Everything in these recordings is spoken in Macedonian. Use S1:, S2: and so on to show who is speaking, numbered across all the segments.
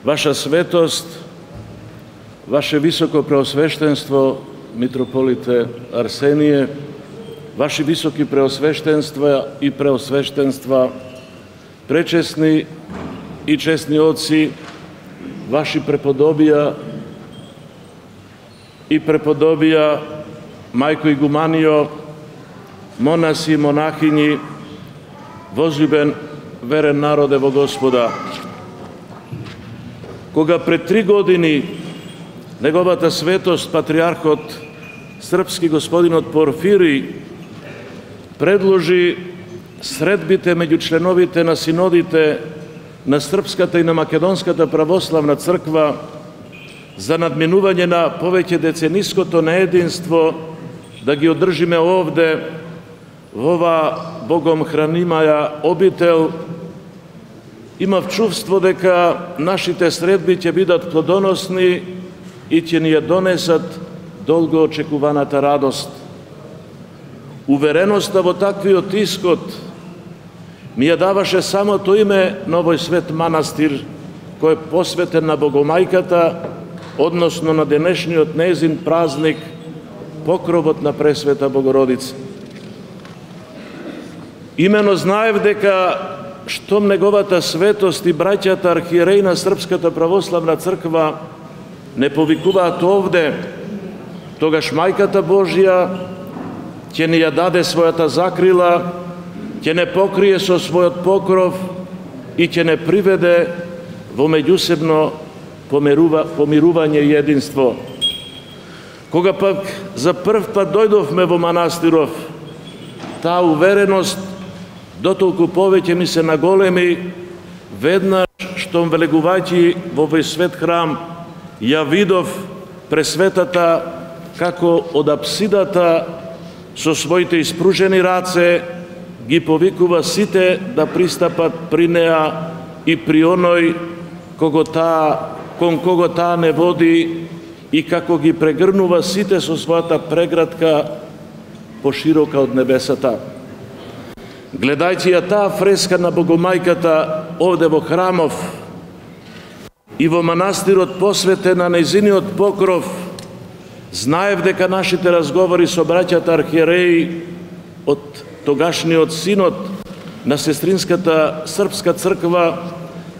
S1: Ваша светост, Ваше високо преосвещенство, митрополите Арсеније, Ваши високи преосвещенства и преосвещенства, пречесни и честни отци, Ваши преподобија и преподобија, мајко игуманио, монаси и монахињи, возлюбен верен народе во Господа. Кога пред 3 години неговата светост, патриархот српски господинот Порфирий, предложи средбите меѓу членовите на синодите на Српската и на Македонската православна црква за надминување на повеќе децениското неединство, да ги одржиме овде, во ова Богом хранимаја обител, имав чувство дека нашите средби ќе бидат плодоносни и ќе ни ја донесат долго очекуваната радост. Увереноста во таквиот исход ми ја даваше самото име на овој свет манастир, кој е посветен на Богомајката, односно на денешниот нејзин празник, покровот на Пресвета Богородица. Имено знаев дека штом неговата светост и браќата архиереи на Српската православна црква не повикуваат овде, тогаш Мајката Божја ќе ни ја даде својата закрила, ќе не покрие со својот покров и ќе не приведе во меѓусебно помирување и единство. Кога пак за прв пат дојдовме во манастиров, таа увереност дотолку повеќе ми се наголеми, веднаш штом влегувајќи во овој свет храм, ја видов Пресветата како од апсидата со своите испружени раце ги повикува сите да пристапат при неа и при оној кон кого таа не води и како ги прегрнува сите со својата преградка поширока од небесата. Гледајќи ја таа фреска на Богомајката овде во храмов и во манастирот посветен на нејзиниот покров, знаев дека нашите разговори со браќата архиереи од тогашниот синод на сестринската српска црква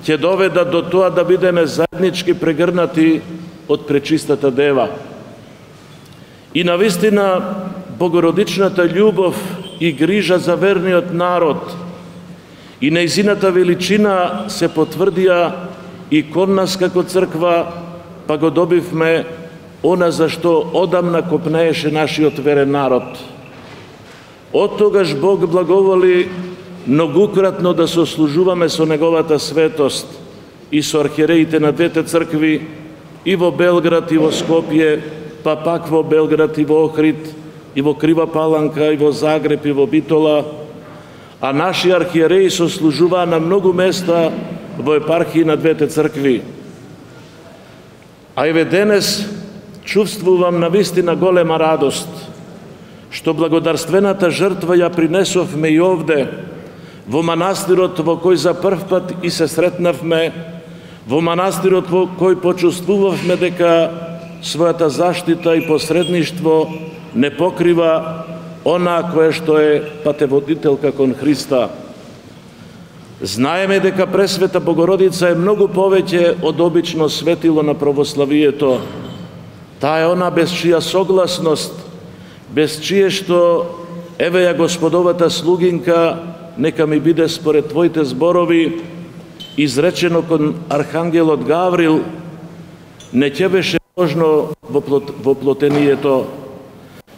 S1: ќе доведат до тоа да бидеме заеднички прегрнати од Пречистата Дева. И навистина Богородичната љубов и грижа за верниот народ и нејзината величина се потврдија и кон нас како црква, па го добивме она за што одамна копнееше нашиот верен народ. Од тогаш Бог благоволи многукратно да сослужуваме со неговата светост и со архиереите на двете цркви и во Белград и во Скопје, па пак во Белград и во Охрид, и во Крива Паланка, и во Загреб, и во Битола, а наши архиереи сослужуваа на многу места во епархии на двете цркви. А еве денес чувствувам навистина голема радост, што благодарствената жртва ја принесовме и овде, во манастирот во кој за прв пат и се сретнавме, во манастирот во кој почувствувавме дека својата заштита и посредништво не покрива она кое што е патеводителка кон Христа. Знаеме дека Пресвета Богородица е многу повеќе од обично светило на православието. Таа е она без чија согласност, без чие што еве ја Господовата слугинка, нека ми биде според Твоите зборови, изречено кон Архангелот Гаврил, не ќе беше можно во плотението.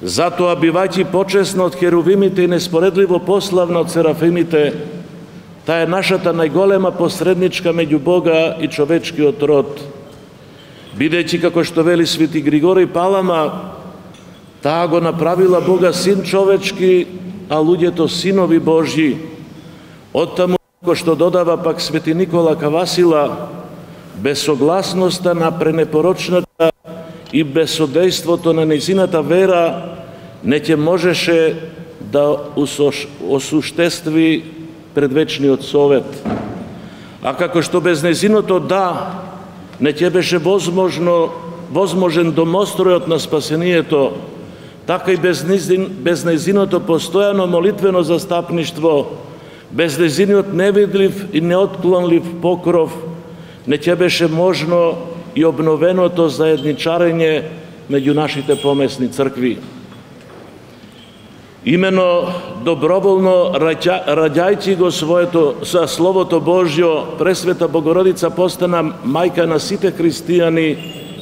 S1: Затоа, бивајќи почесна од херувимите и неспоредливо пославна од серафимите, таа е нашата најголема посредничка меѓу Бога и човечкиот род. Бидејќи, како што вели свети Григорий Палама, таа го направила Бога син човечки, а луѓето синови Божји. Оттаму, како што додава пак свети Никола Кавасила, без согласноста на пренепорочната и без содејството на нејзината вера, не ќе можеше да осуштестви предвечниот совет. А како што без нејзиното да не ќе беше возможен домостројот на спасението, така и без нејзиното постојано молитвено застапништво, без нејзиниот невидлив и неотклонлив покров, не ќе беше можно и обновеното заедничарење меѓу нашите помесни цркви. Имено доброволно раѓајќи го за Словото Божјо, Пресвета Богородица постана мајка на сите христијани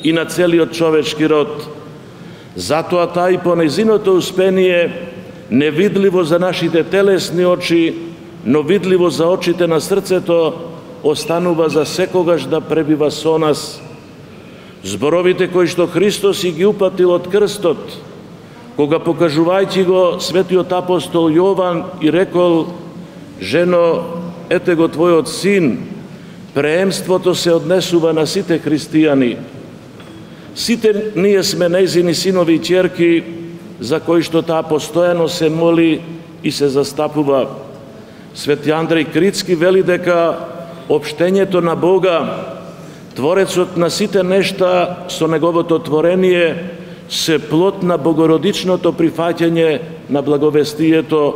S1: и на целиот човечки род. Затоа таа и по нејзиното успение, невидливо за нашите телесни очи, но видливо за очите на срцето, останува за секогаш да пребива со нас. Зборовите кои што Христос и ги упатил од крстот, кога покажувајќи го светиот апостол Јован и рекол: жено, ете го твојот син, преемството се однесува на сите христијани. Сите ние сме нејзини синови и ќерки, за кои што таа постојано се моли и се застапува. Свети Андреј Критски вели дека општењето на Бога, Творецот на сите нешта со неговото творение, се плод на богородичното прифаќање на благовестието,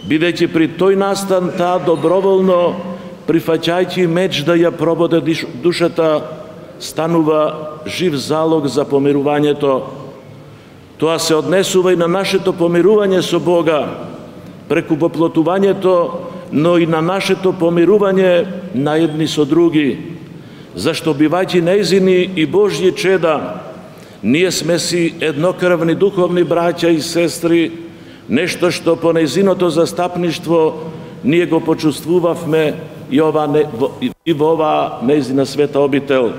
S1: бидејќи при тој настан таа доброволно, прифаќајќи меч да ја прободе душата, станува жив залог за помирувањето. Тоа се однесува и на нашето помирување со Бога, преку воплотувањето, но и на нашето помирување на едни со други, зашто бивајќи нејзини и Божји чеда, ние сме си еднокрвни духовни браќа и сестри, нешто што по нејзиното застапништво ние го почувствувавме и во оваа нејзина света обител.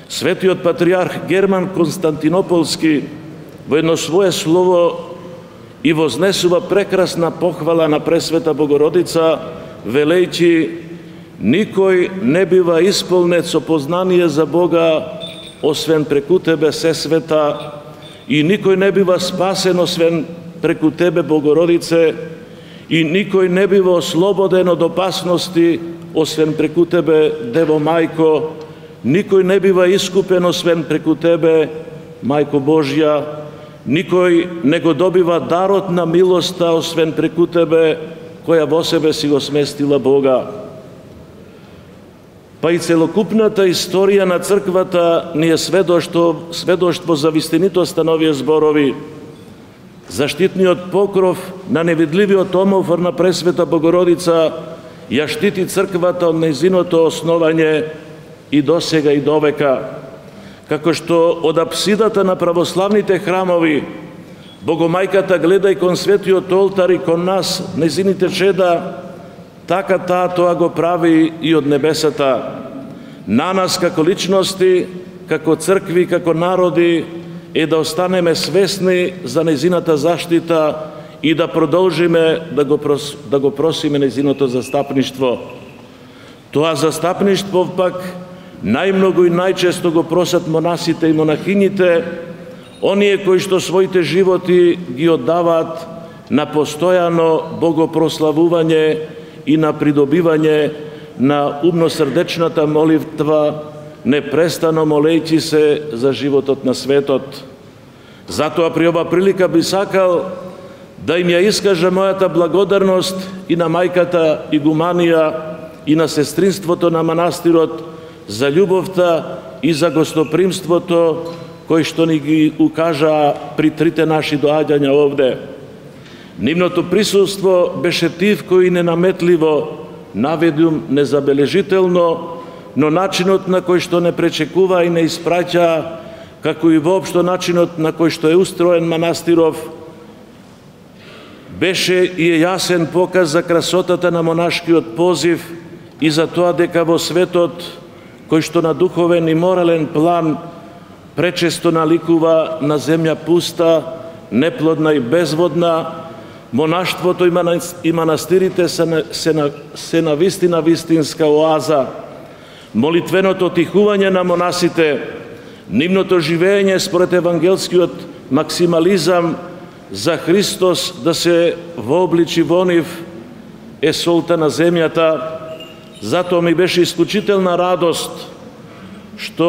S1: Светиот патриарх Герман Константинополски во едно свое слово и вознесува прекрасна похвала на Пресвета Богородица, велејќи: никој не бива исполнет со познание за Бога, освен преку Тебе, Сесвета, и никој не бива спасен, освен преку Тебе, Богородице, и никој не бива ослободен од опасности, освен преку Тебе, Дево Мајко, никој не бива искупен, освен преку Тебе, Мајко Божја, никој не го добива дарот на милоста, освен преку Тебе, која во себе си го сместила Бога. Па и целокупната историја на црквата ни е сведоштво за вистинитоста на овие зборови. Заштитниот покров на невидливиот омофор на Пресвета Богородица ја штити црквата од нејзиното основање и досега и довека. Како што од апсидата на православните храмови Богомајката гледа и кон светиот олтар и кон нас, нејзините чеда, така таа тоа го прави и од небесата. На нас како личности, како цркви, како народи е да останеме свесни за нејзината заштита и да продолжиме да го просиме нејзиното застапништво. Тоа застапништво пак најмногу и најчесто го просат монасите и монахињите, оние кои што своите животи ги оддаваат на постојано богопрославување и на придобивање на умно-срдечната молитва, непрестано молејќи се за животот на светот. Затоа при ова прилика би сакал да им ја искажа мојата благодарност и на мајката игуманија и на сестринството на манастирот за љубовта и за гостопримството кои што ни ги укажаа при трите наши доаѓања овде. Нивното присуство беше тивко и ненаметливо, наведум незабележително, но начинот на кој што не пречекува и не испраќа, како и воопшто начинот на кој што е устроен манастиров, беше и јасен показ за красотата на монашкиот позив и за тоа дека во светот, кој што на духовен и морален план пречесто наликува на земја пуста, неплодна и безводна, монаштвото и манастирите се на вистина вистинска оаза. Молитвеното тихување на монасите, нивното живење според евангелскиот максимализам за Христос да се вообличи во нив е солта на земјата. Затоа ми беше исклучителна радост што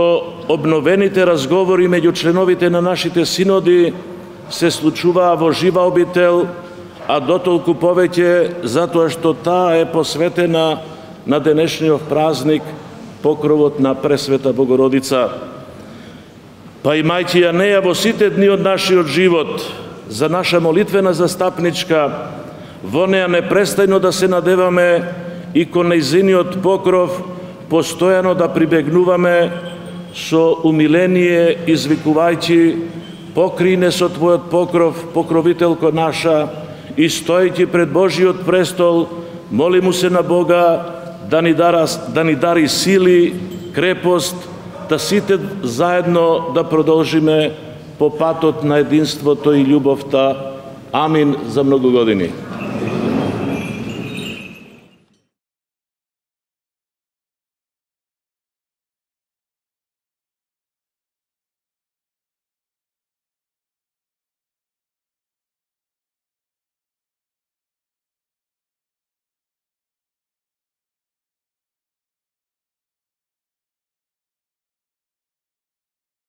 S1: обновените разговори меѓу членовите на нашите синоди се случуваа во жива обител, а дотолку повеќе затоа што таа е посветена на денешниот празник, покровот на Пресвета Богородица. Па имајќи ја неја во сите дни од нашиот живот, за наша молитвена застапничка, во неја непрестајно да се надеваме и кон нејзиниот покров постојано да прибегнуваме со умиление, извикувајќи: покри не со Твојот покров, покровителко наша, и стојќи пред Божиот престол, моли му се на Бога да ни дари сили, крепост, да сите заедно да продолжиме по патот на единството и љубовта. Амин за многу години.